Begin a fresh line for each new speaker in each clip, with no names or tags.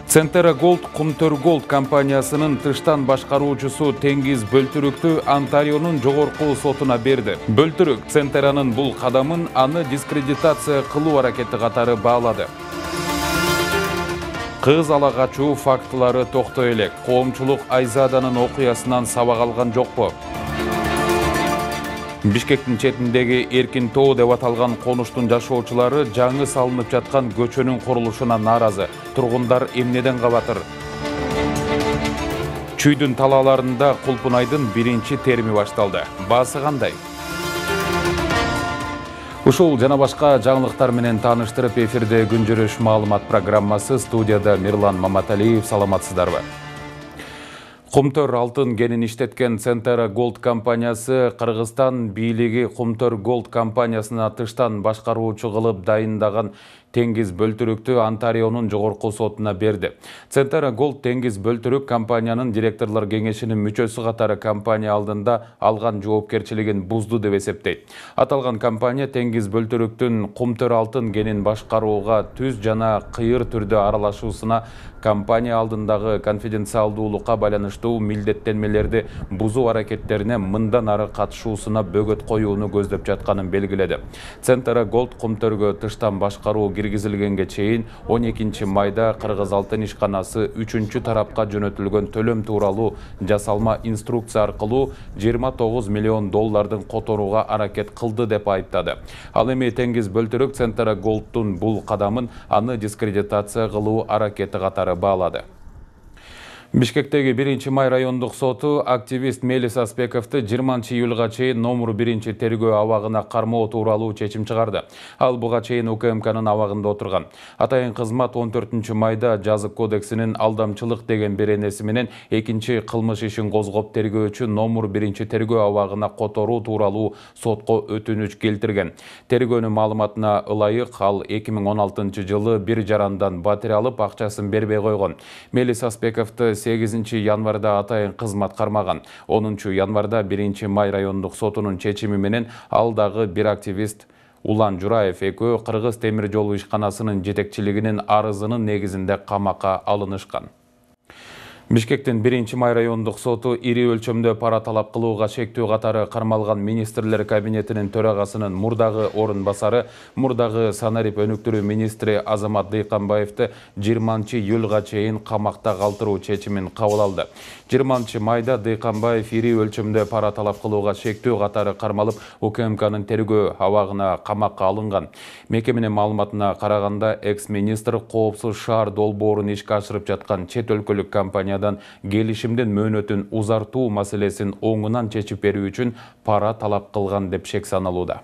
Centera Gold Kumtör Gold компаниясынын тыштан башкаруучусу Теңиз Бөлтүрүктү Онтарионун жогорку сотуна берди. Бөлтүрүк Centera'нын бул кадамын аны дискредитация кылуу аракети катары баалады. Кыз ала качуу фактылары токтой элек. Коомчулук Айзаданын окуясынан сабак алган жокпу? Бишкектин четиндеги Эркин тоо деп аталган конуштун жашоочулары жаңы салынып жаткан көчөнүн курулушуна нааразы. Тургундар эмнеден кабатыр? Чүйдүн талааларында Кулпунайдын биринчи терими башталды. Баасы кандай? Ушул жана башка жаңылыктар менен тааныштырып, эфирде күнжөрөш маалымат программасы. Студияда Мирлан Маматалиев. Саламатсыздарбы? Кумтөр алтын кенин иштеткен Centera Gold компаниясы Кыргызстан бийлиги Кумтөр Gold компаниясына тыштан башкаруучу кылып дайындаган Теңиз Бөлтүрүктү Онтарионун жогорку сотуна берди. Centera Gold Теңиз Бөлтүрүк компаниянын директорлор кеңешинин мүчөсү катары компания алдында алган жоопкерчилигин бузду деп эсептейт. Аталган компания Теңиз Бөлтүрүктүн Кумтөр алтын кенин башкарууга түз жана кыйыр түрдө аралашуусуна, компания алдындагы конфиденциалдуулукка байланыштуу милдеттенмелерди бузуу аракеттерине мындан ары катышуусуна бөгөт коюуну көздөп жатканын белгиледи. Centera Gold Кумтөргө тыштан башкаруу киргизилгенге чейин 12 майда Кыргыз алтын ишканасы 3-чү тарапка жөнөтүлгөн төлөм тууралуу жасалма инструкция аркылуу 29 миллион доллардын которууга аракет кылды деп айыптады. Ал эми Теңиз Бөлтүрүк Centera Gold'тун бул кадамын аны дискредитация кылуу аракети катары баалады. Бишкектеги 1-май райондук соту активист Мелис Аспековду 20-июлга чейин номер 1 тергөө абагына кармоо тууралуу чечим чыгарды. Ал буга чейин УКМКнын абагында отурган. Атайын кызмат 14-майда жазык кодексинин алдамчылык деген беренеси менен 2-чи кылмыш ишин козгоп тергөөчү номер 1 тергөө абагына которуу тууралуу сотко өтүнүч келтирген. Тергөөнүн маалыматына ылайык, ал 2016 жылы бир жарандан батир алып акчасын бербей койгон. Мелис Аспековду 8 январда атайын кызмат кармаган. 10 январда 1-май райондук сотунун чечими менен ал дагы бир активист Улан Жураев экөө Кыргыз темир жолу ишканасынын жетекчилигинин арызынын негизинде камакка алынышкан. Бишкектин 1-май райондук соту ири өлчөмдө пара талап кылууга шектүү катары кармалган министрлер кабинетинин төрагасынын мурдагы орун басары, мурдагы санарип өнүктүрүү министри Азамат Дыйканбаевди 20-июлга чейин камакта калтыруу чечимин кабыл алды. 20-майда Дыйканбаев ири өлчөмдө пара талап кылууга шектүү катары кармалып, УКМКнын тергөө абагына камакка алынган. Мекеменин маалыматына караганда, экс-министр коопсуз шаар долбоорун ишке ашырып жаткан чет өлкөлүк компания келишимдин мөөнөтүн узартуу маселесин оңунан чечип берүү үчүн пара талап кылган деп шек саналууда.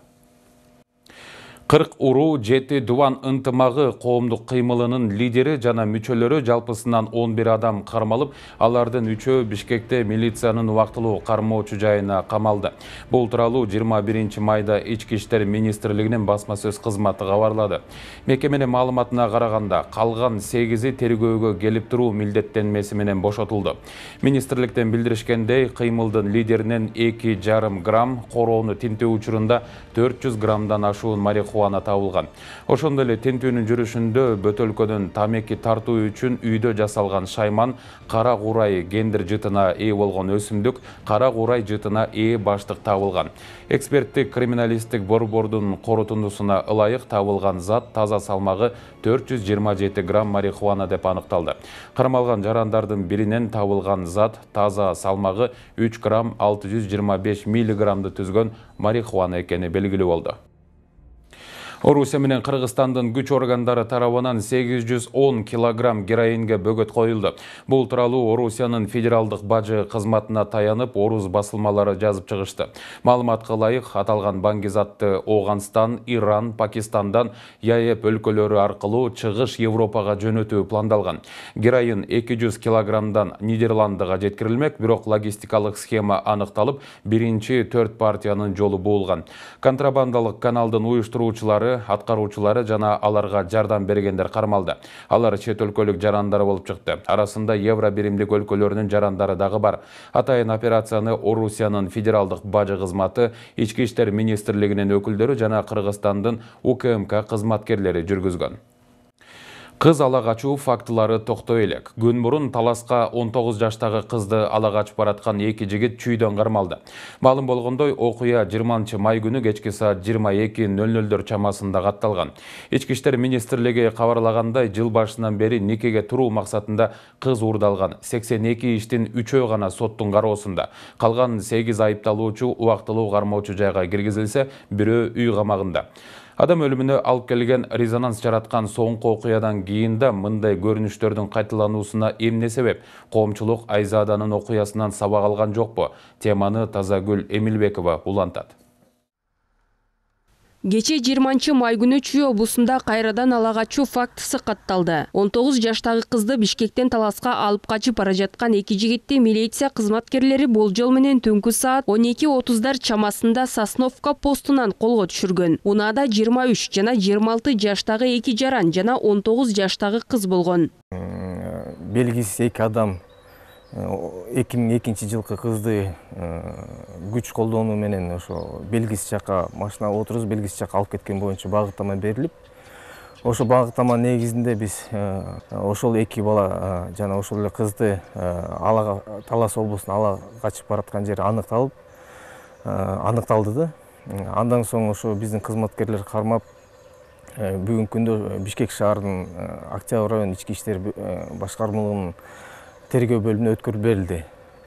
40 уруу 7 дубан ынтымагы коомдук кыймылынын лидери жана мүчөлөрү жалпысынан 11 адам кармалып, алардын 3-өө Бишкекте милициянын убактылуу кармоочу жайына камалды. Бул тууралуу 21 майда Ички иштер министрлигинин басма сөз кызматы кабарлады. Мекеменин маалыматына караганда, калган 8-и тергөөгө келип туруу милдеттенмеси менен бошотулду. Министрликтен билдиришкендей, кыймылдын лидеринен 2,5 грамм, короону тинтөө учурунда 400 граммдан ашуун марихуана табылган. Ошондой эле тинтүүнүн жүрүшүндө бөтөлкөдөн тамеки тартуу үчүн үйдө жасалган шайман, кара курай гендер жытына ээ болгон өсүмдүк, кара курай жытына ээ баштык табылган. Эксперттик криминалисттик борбордун корутундусуна ылайык табылган зат таза салмагы 427 грамм марихуана деп аныкталды. Кармалган жарандардын биринен табылган зат таза салмагы 3 грамм 625 миллиграммды түзгөн марихуана экени белгилүү болду. Орусия менен Кыргызстандын күч органдары тарабынан 810 килограмм героинге бөгөт коюлду. Бул тууралуу Орусиянын федералдык бажы кызматына таянып, орус басылмалары жазып чыгышты. Маалыматка ылайык, аталган баңгизатты Оогандстан, Иран, Пакистандан ЯЭП өлкөлөрү аркылуу чыгыш Европага жөнөтүү пландалган. Героин 200 килограммдан Нидерландыга жеткирилмек, бирок логистикалык схема аныкталып, биринчи 4 партиянын жолу буулган. Контрабандалык каналдын уюштуруучулары органдары, аткаруучулары жана аларга жардам бергендер кармалды. Алар чет өлкөлүк жарандар болуп чыкты. Арасында евро биримдик өлкөлөрүнүн жарандары дагы бар. Атайын операцияны Орусиянын федералдык бажы кызматы, Ички иштер министрлигинин өкүлдөрү жана Кыргызстандын УКМК кызматкерлери жүргүзгөн. Кыз ала качуу фактылары токтой элек. Күн мурун Таласка 19 жаштагы кызды ала качып бараткан эки жигит чүйдөн кармалды. Маалым болгондой, окуя 20 май күнү кечки саат 22:00 чамасында катталган. Ички иштер министрлиги кабарлагандай, жыл башынан бери никеге туруу максатында кыз уурдалган. 82 иштин 3-өө гана соттун кароосунда. Калган 8 айыпталуучу убактылуу кармоочу жайга киргизилсе, бирөө үй камагында. Адам өлүмүнө алып келген резонанс жараткан соңку окуядан кийин да мындай көрүнүштөрдүн кайталануусуна эмне себеп? Коомчулук Айзаданын окуясынан сабак алган жокпу? Теманы Тазагүл Эмилбекова улантат.
Кече 20 май күнү Чүй облусунда кайрадан ала качуу фактысы катталды. 19 жаштагы кызды Бишкектен Таласка алып качып бара жаткан эки жигитти милиция кызматкерлери болжол менен түнкү саат 12:30 чамасында Сосновка постунан колго түшүргөн. Унаада 23 жана 26 жаштагы эки жаран жана 19 жаштагы кыз болгон.
Белгисиз эки адам 2002 жылкы кызды күч колдонуу менен ошо белгисиз жака машинага отурузуп белгисиз жака алып кеткен боюнча багыттама берилип, ошо багыттама негизинде биз ошол эки бала жана ошол эле кызды Талас облусуна ала качып бараткан жери аныкталды да. Андан соң ошо биздин кызматкерлер кармап, бүгүнкү күндө Бишкек шаарынын Октябрь район ички иштер башкармалыгынын тергөө бөлүмүнө өткөрүп берилди.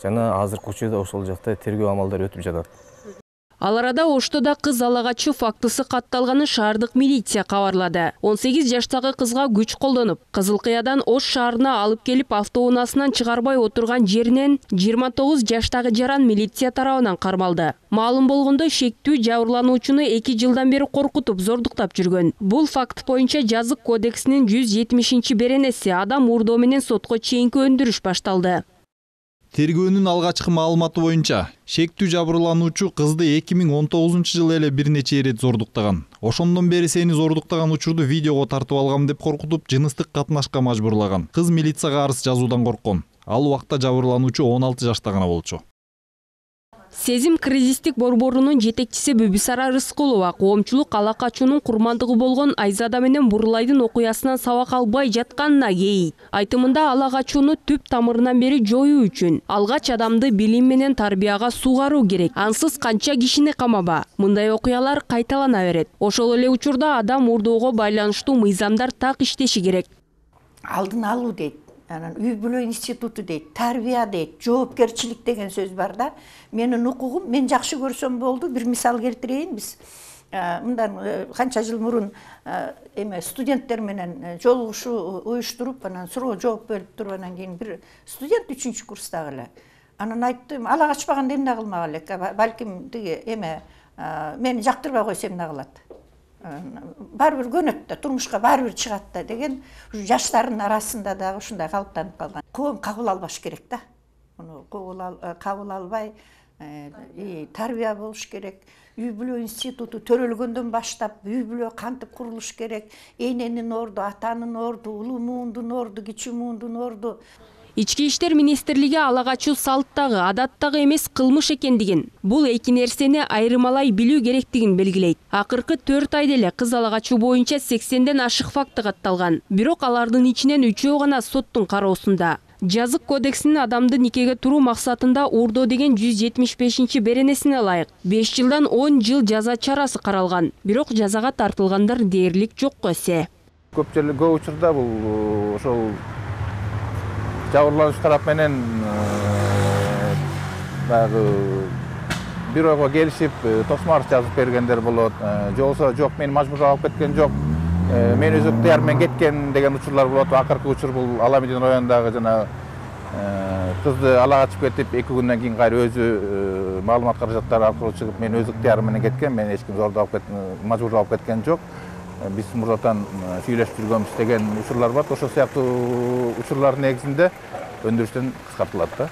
Жана азыркы учурда ошол жакта тергөө амалдары өтүп жатат.
Ал арада Оштодо кыз ала качуу фактысы катталганы шаардык милиция кабарлады. 18 жаштагы кызга күч колдонуп, Кызылкыядан Ош шаарына алып келип автоунаасынан чыгарбай отурган жеринен 29 жаштагы жаран милиция тарабынан кармалды. Маалым болгондой, шектүү жабырлануучуну 2 жылдан бери коркутуп, зордуктап жүргөн. Бул факт боюнча Жазык кодексинин 170-беренеси адам уурдоо менен сотко чейинки өндүрүш башталды.
Тергөөнүн алгачкы маалыматы боюнча, шектүү жабырлануучу кызды 2019 эле бир нече ирет зордуктаган. Ошондон бери сени зордуктаган учурду видеого тартып алгам деп коркутуп, жыныстык катнашка мажбурлаган. Кыз милицияга арыз жазуудан корккон. Ал убакта жабырлануучу 16 жашта гана болчу.
Сезим кризистик борборунун жетекчиси Бүбүсара Рыскулова коомчулук ала качуунун курмандыгы болгон Айзада менен Бурлайдын окуясынан сабак албай жатканына кейит. Айтымында ала качууну түп тамырынан бери жоюу үчүн алгач адамды билим менен тарбияга сугаруу керек. Ансыз канча кишини камаба. Мындай окуялар кайталана берет. Ошол эле учурда адам уурдоого байланыштуу мыйзамдар так иштеши керек.
Алдын алуу дейт. Үй бүлө институту дейт, тарбия дейт, жоопкерчилик деген сөз бар да. Менин укугум, мен жакшы көрсөм болду. Бир мисал келтирейин, биз мындан канча жыл мурун студенттер менен жолугушуу уюштуруп, анан суроо жооп берип туруп, анан кийин бир студент 3-курстагы эле. Анан айттым, ала качпаганда эмне кылмак элек? Балким тиги мени жактырбай койсо эмне кылат? Баары бир көнөт да, турмушка баары бир чыгат да деген жаштардын арасында дагы ушундай калыптанып калган. Коом кабыл албаш керек да. Муну кабыл албай, тарбия болуш керек. Үй бүлө институту төрөлгөндөн баштап үй бүлө кантип курулуш керек? Эненин орду, атанын орду, улуу муундун орду, кичүү муундун орду.
Ички иштер министрлиги ала качуу салттагы, адаттагы эмес кылмыш экендигин, бул эки нерсени айырмалай билүү керектигин белгилейт. Акыркы 4 айда эле кыз ала качуу боюнча 80ден ашык факты катталган. Бирок алардын ичинен 3-өө гана соттун кароосунда. Жазык кодексинин адамды никеге туруу максатында уурдоо деген 175-беренесине ылайык 5 жылдан 10 жыл жаза чарасы каралган. Бирок жазага тартылгандар дээрлик жокко эсе.
Көп учурда бул ошол жабырлануучу тарап менен дагы бир ойго келишип, тосмар жазып бергендер болот. Же болсо жок, мени мажбурлап алып кеткен жок, мен өз ыктыярым менен кеткен деген учурлар болот. Акыркы учур бул Аламедин районундагы жана кызды ала качып кетип, 2 күндөн кийин кайра өзү маалымат каражаттары аркылуу чыгып, мен өз ыктыярым менен кеткен, мени эч ким зордоп алып кеткен, мажбурлап алып кеткен жок. Биз мурдатан сүйлөшүп жүргөнбүз деген учурлар бар. Ошол сыяктуу учурлардын негизинде өндүрүштөн кыскартылат да.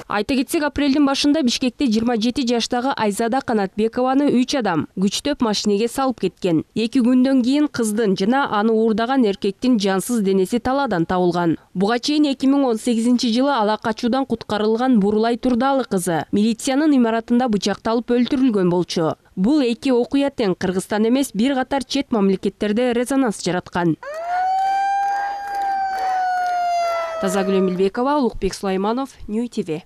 Айта кетсек, апрелдин башында Бишкекте 27 жаштагы Айзада Канатбекованы 3 адам күчтөп машинеге салып кеткен. 2 күндөн кийин кыздын жана аны уурдаган эркектин жансыз денеси талаадан табылган. Буга чейин 2018 жылы ала качуудан куткарылган Бурулай Турдалы кызы милициянын имаратында бычакталып өлтүрүлгөн болчу. Бул эки окуя тең Кыргызстан эмес, бир катар чет мамлекеттерде резонанс жараткан. Тазагүл Эмилбекова, Улукбек Сулайманов, Нью ТВ.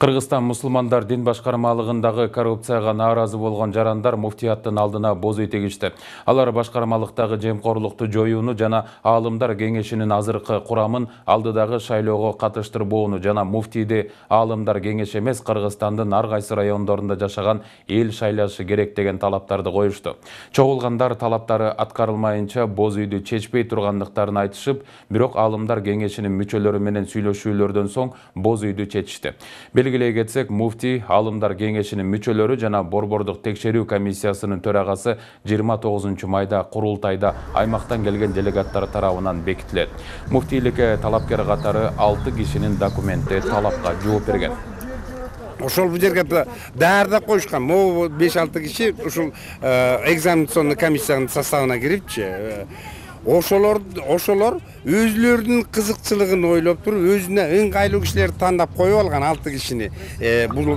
Кыргызстан мусулмандар дин башкармалыгындагы коррупцияга нааразы болгон жарандар муфтияттын алдына боз үй тегишти. Алар башкармалыктагы жемкорлукту жоюуну жана аалымдар кеңешинин азыркы курамын алдыдагы шайлоого катыштырбоону жана муфтийди аалымдар кеңеши эмес, Кыргызстандын ар кайсы райондорунда жашаган эл шайлашы керек деген талаптарды коюшту. Чогулгандар талаптары аткарылмайынча боз үйдү чечпей тургандыктарын айтышып, бирок аалымдар кеңешинин мүчөлөрү менен сүйлөшүүлөрдөн соң боз үйдү чечишти. Белгилей кетсек, муфтий аалымдар кеңешинин мүчөлөрү жана борбордук текшерүү комиссиясынын төрагасы 29 майда курултайда аймактан келген делегаттар тарабынан бекитилет. Муфтийликке талапкер катары 6 кишинин документи талапка жооп берген.
Ошол бул жерге даярдап коюшкан. Могу 5-6 киши ушул экзаменационный комиссиянын составына кирипчи. Ошолор өзлөрүнүн кызыкчылыгын ойлоп туруп, өзүнө ыңгайлуу кишилерди тандап коюп алган 6 кишини. Бул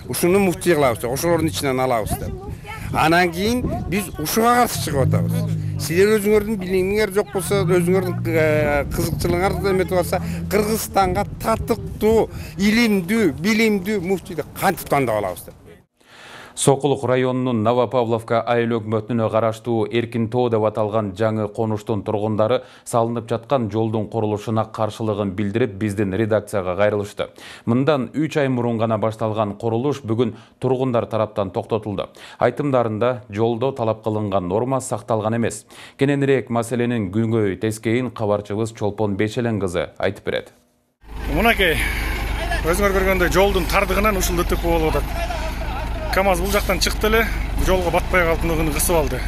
ушуну муфтий кылабыз, ошолордун ичинен алабыз деп. Анан кийин биз ушуга каршы чыгып атабыз. Силер өзүңөрдүн билимиңер жок болсо, өзүңөрдүн кызыкчылыгыңар эметип атса, Кыргызстанга татыктуу, илимдүү, билимдүү муфтийди кантип тандап алабыз деп.
Сокулук районунун Новопавловка айыл өкмөтүнө караштуу Эркинтоо деп аталган жаңы конуштун тургундары салынып жаткан жолдун курулушуна каршылыгын билдирип, биздин редакцияга кайрылышты. Мындан 3 ай мурун гана башталган курулуш бүгүн тургундар тараптан токтотулду. Айтымдарында жолдо талап кылынган норма сакталган эмес. Кененирээк маселенин күнгөй тескейин кабарчыбыз Чолпон Бешелен кызы айтып берет.
Мынакей, өзүңөр көргөндөй жолдун тардыгынан ушул ДТП болуп атат. КамАЗ бул жактан чыкты эле, жолго батпай калдыгын кысып алды.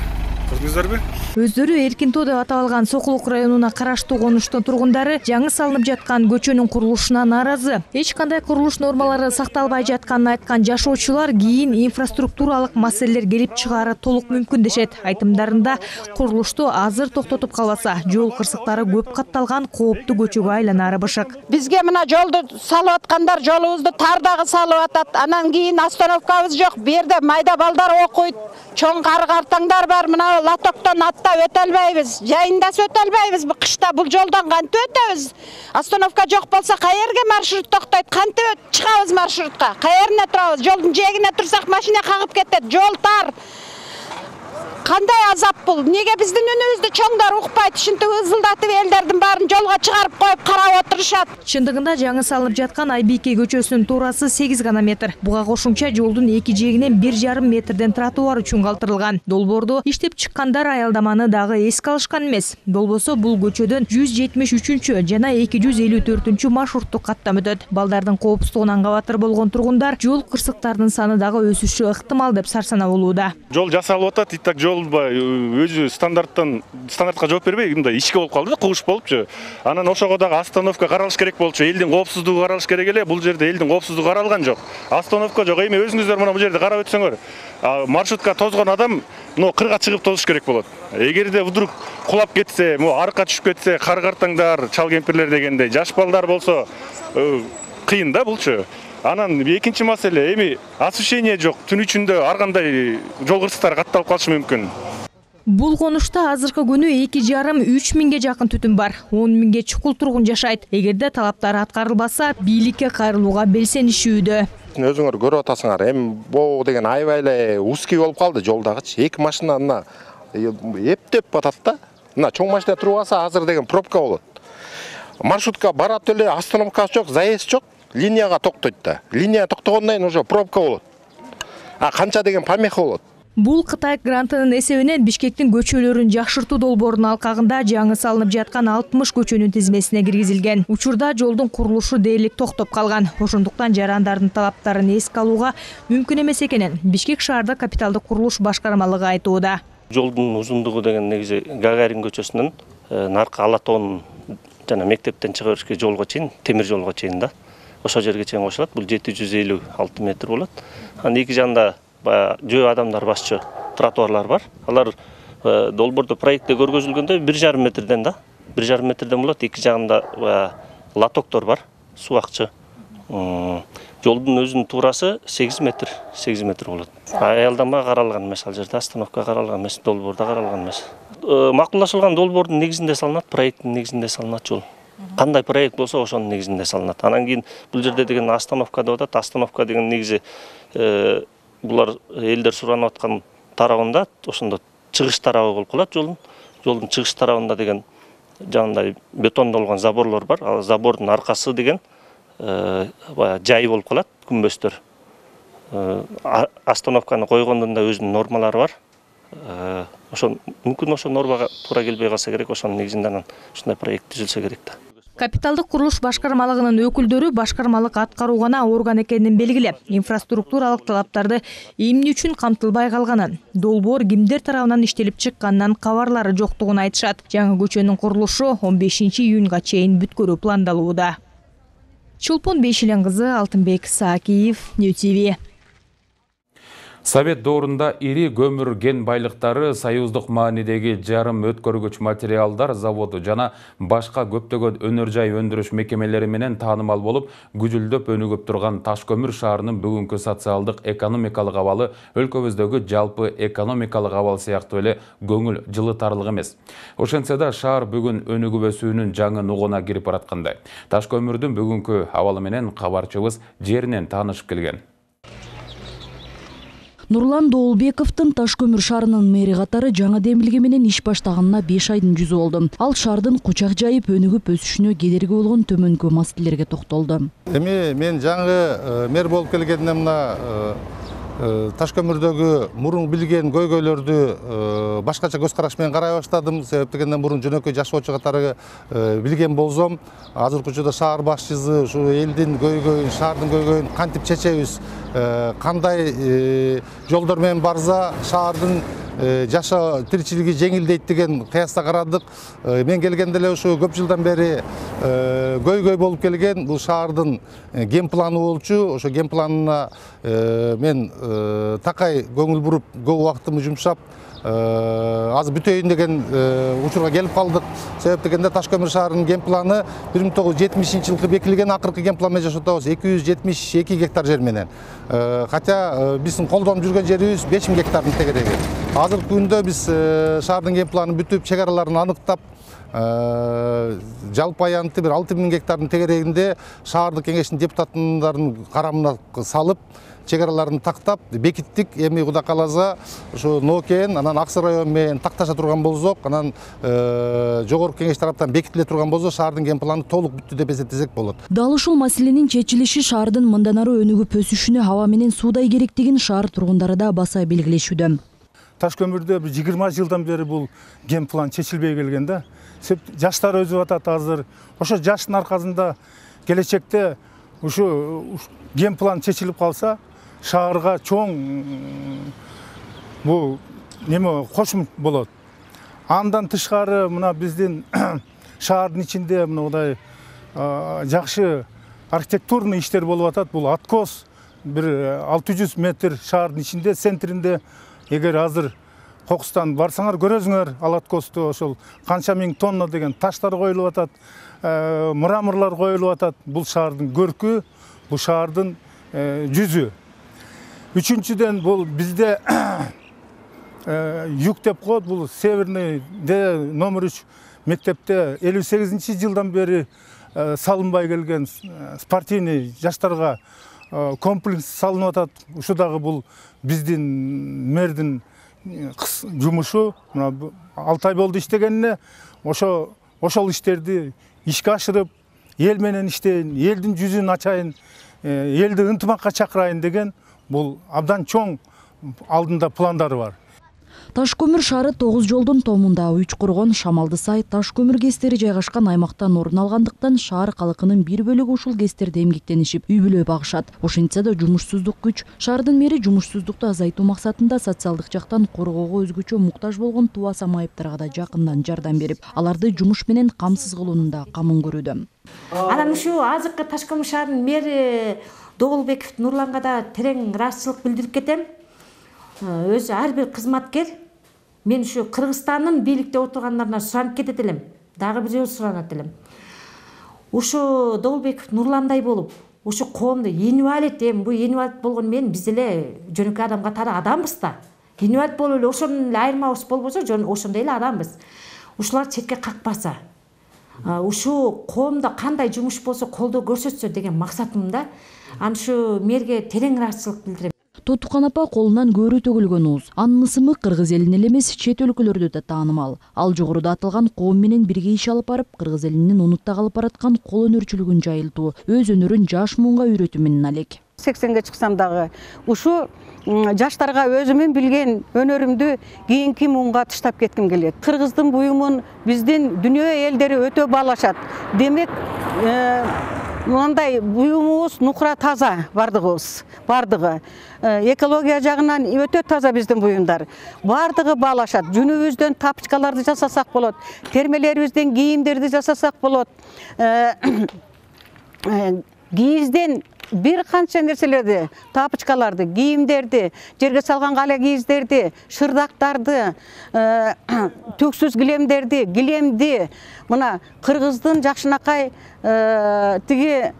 Көрдүңүздөрбү?
Өздөрү Эркинтоо деп аталган Сокулук районуна караштуу конуштун тургундары жаңы салынып жаткан көчөнүн курулушуна нааразы. Эч кандай курулуш нормалары сакталбай жатканын айткан жашоочулар кийин инфраструктуралык маселелер келип чыгаары толук мүмкүн дешет. Айтымдарында курулушту азыр токтотуп калбаса, жол кырсыктары көп катталган кооптуу көчөгө айланары бышык.
Бизге мына жолду салып аткандар жолубузду тардагы салып атат. Анан кийин остановкабыз жок. Берде майда балдар окуйт. Чоң картаңдар бар. Мына латоктон атта өтө албайбыз. Жайында өтө албайбыз. Кышта бул жолдон кантип өтөбүз? Остановка жок болсо каерге маршрут токтойт? Кантип чыгабыз маршрутка? Каерне турабыз? Жолдун жээгине турсак машина кагып кетет. Жол тар. Кандай азап бул? Неге биздин үнүбүздү чоңдар укпайт? Ушинтип ызылдатып элдердин баарын жолго чыгарып коюп карап отурушат.
Чындыгында жаңы салынып жаткан Айбике көчөсүнүн туурасы 8 гана метр. Буга кошумча жолдун эки жээгинен 1,5 метрден тротуар үчүн калтырылган. Долбоорду иштеп чыккандар аялдаманы дагы эске алышкан эмес. Болбосо бул көчөдөн 173 жана 254 маршруттук каттам өтөт. Балдардын коопсуздугунан кабатыр болгон тургундар жол кырсыктарынын саны дагы өсүшү ыктымал деп сарсана болууда.
Жол жасалып атат, итак жол өзү стандартка жооп бербей, мындай ичке болуп калды, кугуш болупчу. Анан ошого дагы остановка каралыш керек болчу. Элдин коопсуздугу каралыш керек эле. Бул жерде элдин коопсуздугу каралган жок. Остановка жок. Эми өзүңүздөр мына бул жерде карап өтсөңөр, маршрутка тозгон адам кырга чыгып тозуш керек болот. Эгерде вдруг кулап кетсе, арыкка түшүп кетсе, кар картаңдар, чал кемпирлер дегендей, жаш балдар болсо кыйын да булчу. Анан экинчи маселе, эми освещение жок. Түн ичинде ар кандай жол кырсыктары катталып калышы мүмкүн.
Бул конушта азыркы күнү 2,5–3 миңге жакын түтүн бар. 10 миңге чукул тургун жашайт. Эгерде талаптары аткарылбаса, бийликке кайрылууга белсенишүүдө.
Өзүңөр көрүп атасыңар, эми боо деген аябай эле узкий болуп калды жолдагычы. Эки машина мына эптеп атат да. Мына чоң машина туруп алса, азыр деген пробка болот. Маршрутка барат эле, остановкасы жок, заезд жок, линияга токтойт да. Линия токтогондон кийин уже пробка болот. Канча деген помеха болот.
Бул Кытай грантынын эсебинен Бишкектин көчөлөрүн жакшыртуу долбоорунун алкагында жаңы салынып жаткан 60 көчөнүн тизмесине киргизилген. Учурда жолдун курулушу дээрлик токтоп калган. Ошондуктан жарандардын талаптарын эске алууга мүмкүн эмес экенин Бишкек шаардык капиталдык курулуш башкармалыгы айтууда.
Жолдун узундугу деген негизи Гагарин көчөсүнөн наркы Ала тоонун жана мектептен чыга беришке жолго чейин, темир жолго чейин да. Ошол жерге чейин кошулат. Бул 756 метр болот. Анын эки жагында жөө адамдар басчу тротуарлар бар. Алар долбоордо проектте көргөзүлгөндө 1,5 метрден да, 1,5 метрден болот. Эки жагында лотоктор бар, суу акчы. Жолдун өзүнүн туурасы 8 метр болот. Аялдама каралган эмес, ал жерде остановка каралган эмес, долбоордо каралган эмес. Макулдашылган долбоордун негизинде салынат, проекттин негизинде салынат жол. Кандай проект болсо ошонун негизинде салынат. Анан кийин бул жерде деген остановка деп атат. Остановка деген негизи булар элдер суранып аткан тарабында, ошондо чыгыш тарабы болуп калат жолдун. Жолдун чыгыш тарабында деген жанында бетондолгон заборлор бар. Ал забордун аркасы деген жай болуп калат, күмбөздөр. Остановканы койгондун да өзүнүн нормалары бар. Ошон мүмкүн ошо нормага туура келбей калса керек, ошонун негизинде анан ушундай проект түзүлсө керек да.
Капиталдык курулуш башкармалыгынын өкүлдөрү башкармалык аткаруу гана орган экенин белгилеп, инфраструктуралык талаптарды эмне үчүн камтылбай калганын, долбоор кимдер тарабынан иштелип чыкканынан кабарлары жоктугун айтышат. Жаңы көчөнүн курулушу 15 июнга чейин бүткөрүү пландалууда. Чулпун Бейшилен кызы, Алтынбек Саакиев, New TV.
Совет доорунда ири көмүр кен байлыктары, союздук маанидеги жарым өткөргүч материалдар заводу жана башка көптөгөн өнөр жай өндүрүш мекемелери менен таанымал болуп, күжүлдөп өнүгүп турган Таш-Көмүр шаарынын бүгүнкү социалдык экономикалык абалы өлкөбүздөгү жалпы экономикалык абал сыяктуу эле көңүл жылытарлык эмес. Ошентсе да шаар бүгүн өнүгүп өсүүнүн жаңы нугуна кирип бараткандай. Таш-Көмүрдүн бүгүнкү абалы менен кабарчыбыз жеринен таанышып келген.
Нурлан Доолбековдун Таш-Көмүр шаарынын мэри катары жаңы демилге менен иш баштаганына 5 айдын жүзү болду. Ал шаардын кучак жайып өнүгүп өсүшүнө кедерги болгон төмөнкү маселелерге токтолду.
Мен жаңы мэр болуп келгенден мына Таш-Көмүрдөгү мурун билген көйгөйлөрдү башкача көз караш менен карай баштадым. Себеп дегенде мурун жөнөкөй жашоочу катары билген болсом, азыркы учурда шаар башчысы ушу элдин көйгөйүн, шаардын көйгөйүн кантип чечебиз, кандай жолдор менен барса шаардын жашоо тиричилиги жеңилдейт деген кыяста карадык. Мен келгенде эле ушу көп жылдан бери көйгөй болуп келген бул шаардын ген планы болчу. Ошо ген планына мен такай көңүл буруп көп убактымды жумшап азыр бүтөйүн деген учурга келип калдык. Себеп дегенде Таш-Көмүр шаарынын ген планы 1970-жылкы бекилген, акыркы ген план менен жашотобуз 272 гектар жер менен. Хотя биздин колдонуп жүргөн жерибиз 5000 гектардын тегереги. Азыркы күндө биз шаардын ген планын бүтүп, чек араларын аныктап, жалпы аянты 6000 гектардын тегерегинде шаардык кеңештин депутаттарынын карамына салып, чек араларын тактап бекиттик. Эми Кудай кааласа ушу Нокен, анан Аксы району менен такташа турган болсок, анан жогорку кеңеш тараптан бекитиле турган болсо, шаардын ген планы толук бүттү деп эсептесек болот.
Дал ушул маселенин чечилиши шаардын мындан ары өнүгүп өсүшүнө аба менен суудай керектигин шаар тургундары да баса белгилешүүдө.
Таш-Көмүрдө 20 жылдан бери бул ген план чечилбей келген да. Жаштар өзүп атат азыр. Ошо жаштын аркасында келечекте ушу ген план чечилип калса, шаарга чоң бул неме кошум болот. Андан тышкары мына биздин шаардын ичинде мындай жакшы архитектурный иштер болуп атат. Бул откос бир 600 метр шаардын ичинде, центринде. Эгер азыр кокустан барсаңар көрөсүңөр, ал откосту ошол канча миң тонна деген таштар коюлуп атат, мраморлор коюлуп атат. Бул шаардын көркү, бул шаардын жүзү. Үчүнчүдөн бул бизде юг деп коет, бул Северный номер 3 мектепте 58-жылдан бери салынбай келген спортивный жаштарга комплекс салынып атат. Ушу дагы бул биздин мэрдин жумушу. 6 ай болду иштегенине, ошол иштерди ишке ашырып, эл менен иштейин, элдин жүзүн ачайын, элди ынтымакка чакырайын деген бул абдан чоң алдында пландары бар.
Таш көмүр шаары 9 жолдун томунда Үч Коргон, Шамалды Сай, таш көмүр кестери жайгашкан аймактан орун алгандыктан шаар калкынын бир бөлүгү ушул кестерде эмгектенишип, үй бүлө багышат. Ошентсе да жумушсуздук күч. Шаардын мэри жумушсуздукту азайтуу максатында социалдык жактан коргоого өзгөчө муктаж болгон тубаса майыптарга да жакындан жардам берип, аларды жумуш менен камсыз кылуунун да камын көрүүдө.
Анан ушу азыркы Таш көмүр шаарынын мэри Доболбеков Нурланга да терең ыраазычылык билдирип кетем. Өзү ар бир кызматкер мен ушу Кыргызстандын бийликте отургандарына суранып кетет элем. Дагы бир жолу суранат элем. Ушу Доболбеков Нурландай болуп, ушу коомду инвалид, бул инвалид болгон мен биз эле жөнөкөй адам катары адамбыз да. Инвалид болуп эле ошондон эле айырмабыз болбосо, ошондой эле адамбыз. Ушулар четке какпаса, ушу коомдо кандай жумуш болсо колдоо көрсөтсө деген максатым да. Ан ушу мэрге терең ыраазычылык билдирем.
Тотукан апа колунан көөрү төгүлгөн ууз. Анын ысымы кыргыз элине эле эмес, чет өлкөлөрдө да таанымал. Ал жогоруда аталган коом менен бирге иш алып барып, кыргыз элинин унутта калып бараткан кол өнөрчүлүгүн жайылтуу, өз өнөрүн жаш муунга үйрөтүү менен алек.
80ге чыксам дагы ушу жаштарга өзүмүн билген өнөрүмдү кийинки муунга таштап кетким келет. Кыргыздын буюмун биздин дүйнө элдери өтө баалашат. Демек, мындай буюмубуз нукра таза бардыгы. Экология жагынан өтө таза биздин буюмдар. Бардыгы баалашат. Жүнүбүздөн тапочкаларды жасасак болот. Термелерибизден кийимдерди жасасак болот. Кийизден бир канча нерселерди, тапочкаларды, кийимдерди, жерге салган кале кийиздерди, шырдактарды, төксүз килемди, мына кыргыздын жакшынакай тиги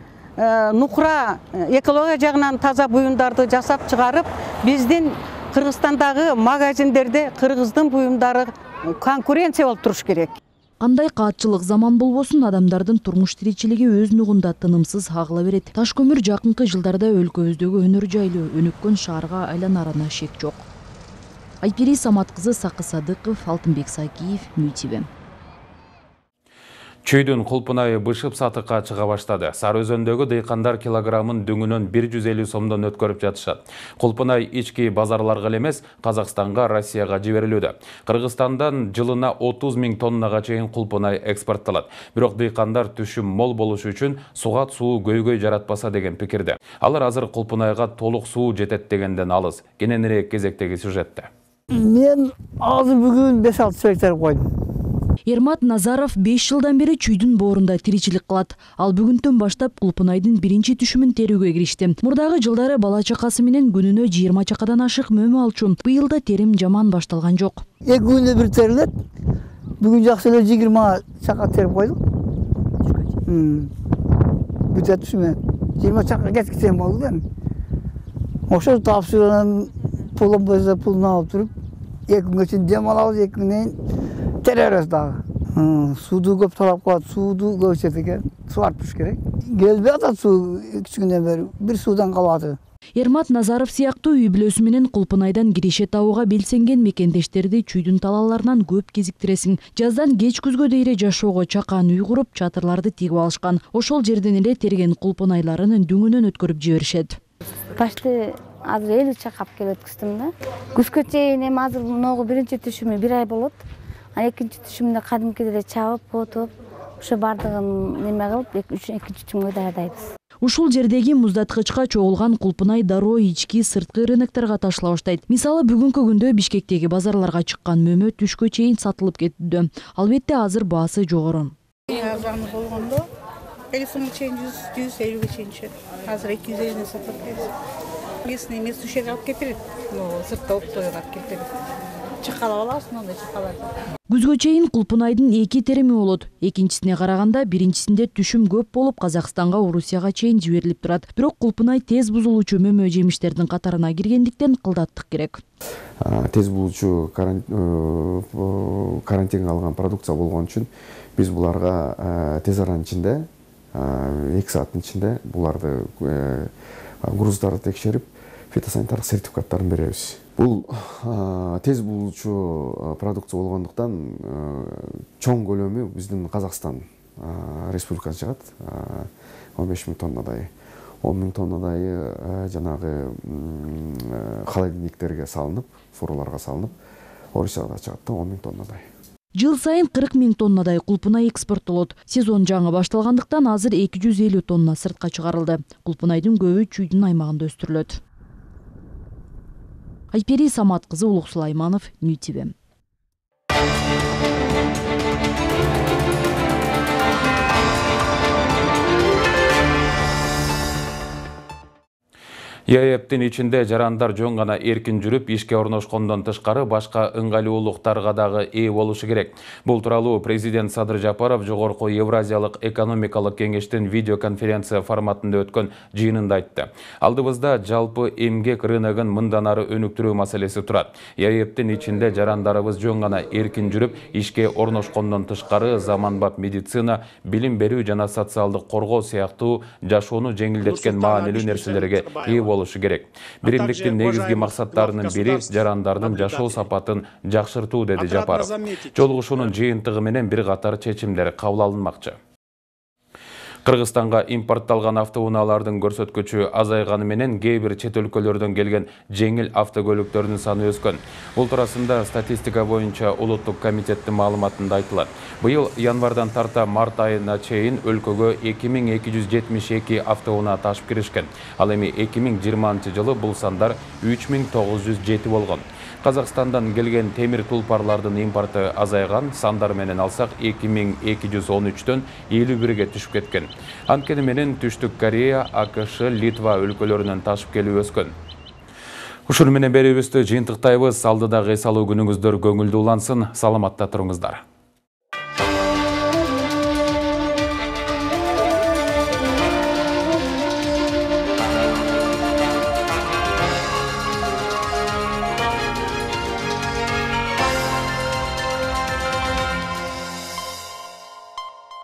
нукра экология жагынан таза буюмдарды жасап чыгарып, биздин Кыргызстандагы магазиндерде кыргыздын буюмдары конкуренция болуп туруш керек.
Кандай каатчылык заман болбосун, адамдардын турмуш тиричилиги өз нугунда тынымсыз агыла берет. Таш көмүр жакынкы жылдарда өлкөбүздөгү өнөр жайлуу, өнүккөн шаарга айланарына шек жок. Айпери Самат кызы, Сакы Садыков, Алтынбек Сакиев, МТV.
Чүйдүн кулпунайы бышып сатыкка чыга баштады. Сары Өзөндөгү дыйкандар килограммын дөңүнөн 150 сомдон өткөрүп жатышат. Кулпунай ички базарларга эмес, Казакстанга, Россияга жиберилүүдө. Кыргызстандан жылына 30 000 тоннага чейин кулпунай экспорттолот. Бирок дыйкандар түшүм мол болушу үчүн сугат суу көйгөй жаратпаса деген пикирде. Алар азыр кулпунайга толук суу жетет дегенден алыс. Кененирээк кезектеги сюжетте.
Мен азыр бүгүн 5-6 гектар койдум.
Ермат Назаров 5 жылдан бери чүйдүн боорунда тиричилик кылат. Ал бүгүндөн баштап кулпунайдын биринчи түшүмүн терүүгө киришти. Мурдагы жылдары бала чакасы менен күнүнө 20 чакадан ашык мөмө алчу. Быйыл да терим жаман башталган жок.
2 күндө бир терилет. Бүгүн жакшы эле 20 чака терип койдук. Бүтө түшүмө 20 чака кеткитен болду да. Ошо тапшырган пулун болсо пулун алып туруп, 2 күнгө чейин дем алабыз, 2 күндөн теререс дагы. Сууду көп талап кылат, сууду көп ичет экен, суарып туруш керек. Келбей атат суу 2 күндөн бери, бир суудан калып атат.
Ермат Назаров сыяктуу үй бүлөсү менен кулпунайдан киреше табууга белсенген мекендештерди чүйдүн талааларынан көп кезиктиресиң. Жаздан кеч күзгө дейре жашоого чакан үй куруп, чатырларды тигип алышкан. Ошол жерден эле терген кулпунайларын дөңүнөн өткөрүп жиберишет.
Башты азыр 50 чакап келип өткүздүм да. Күзгө чейин эми азыр мыногу биринчи түшүмү 1 ай болот. Экинчи түшүмдө кадимкидей эле чабып, отуп, ошо бардыгын неме кылып, экинчи түшүмгө даярдайбыз.
Ушул жердеги муздаткычка чогулган кулпунай дароо ички сырткы рынокторго ташыла баштайт. Мисалы, бүгүнкү күндө Бишкектеги базарларга чыккан мөмө түшкө чейин сатылып кетүүдө. Албетте азыр баасы жогору.
Арзаны болгондо 50 сомго чейин 150ге чейин түшөт. Азыр 250 сатып атабыз. Местный эмес түшөк алып келип берет. Сыртта оптойго алып келип берет. Чакалап алабыз, мындай чакаларды.
Күзгө чейин кулпунайдын 2 терими болот. Экинчисине караганда биринчисинде түшүм көп болуп, Казакстанга, Орусияга чейин жиберилип турат. Бирок кулпунай тез бузулуучу мөмө жемиштердин катарына киргендиктен кылдаттык керек.
Тез бузулуучу карантинге алган продукция болгон үчүн биз буларга тез аранын ичинде, 2 сааттын ичинде буларды груздарды текшерип, фитосанитардык сертификаттарын беребиз. Бул тез бузулуучу продукция болгондуктан чоң көлөмү биздин Казакстан Республикасы жыгат, 15 000 тоннадай. 10 000 тоннадай жанагы холодильниктерге салынып, фураларга салынып, Орусияга чыгат да 10 000 тоннадай.
Жыл сайын 40 000 тоннадай кулпунай экспорттолот. Сезон жаңы башталгандыктан азыр 250 тонна сыртка чыгарылды. Кулпунайдын көбү Чүйдүн аймагында өстүрүлөт. Айпери Самат кызы, Улук Сулайманов, НТВ.
ЯЭПтин ичинде жарандар жөн гана эркин жүрүп, ишке орношкондон тышкары башка ыңгайлуулуктарга дагы ээ болушу керек. Бул тууралуу президент Садыр Жапаров жогорку Евразиялык экономикалык кеңештин видеоконференция форматында өткөн жыйынында айтты. Алдыбызда жалпы эмгек рыногун мындан ары өнүктүрүү маселеси турат. ЯЭПтин ичинде жарандарыбыз жөн гана эркин жүрүп, ишке орношкондон тышкары заманбап медицина, билим берүү жана социалдык коргоо сыяктуу жашоону жеңилдеткен маанилүү нерселерге ээ болушу керек. Биримдиктин негизги максаттарынын бири жарандардын жашоо сапатын жакшыртуу, деди Жапаров. Жолугушуунун жыйынтыгы менен бир катар чечимдер кабыл алынмакчы. Кыргызстанга импортталган автоунаалардын көрсөткүчү азайганы менен кээ бир чет өлкөлөрдөн келген жеңил автокөлүктөрдүн саны өскөн. Бул туурасында статистика боюнча улуттук комитеттин маалыматында айтылат. Быйыл январдан тарта март айына чейин өлкөгө 2272 автоунаа ташып киришкен. Ал эми 2020 жылы бул сандар 3907 болгон. Казакстандан келген темир тулпарлардын импорты азайган, сандар менен алсак 2213төн 51ге түшүп кеткен. Анткени менен Түштүк Корея, АКШ, Литва өлкөлөрүнөн ташып келүү өскөн. Ушуну менен берүүбүздү жыйынтыктайбыз. Алдыдагы эс алуу күнүңүздөр көңүлдүү улансын. Саламатта туруңуздар.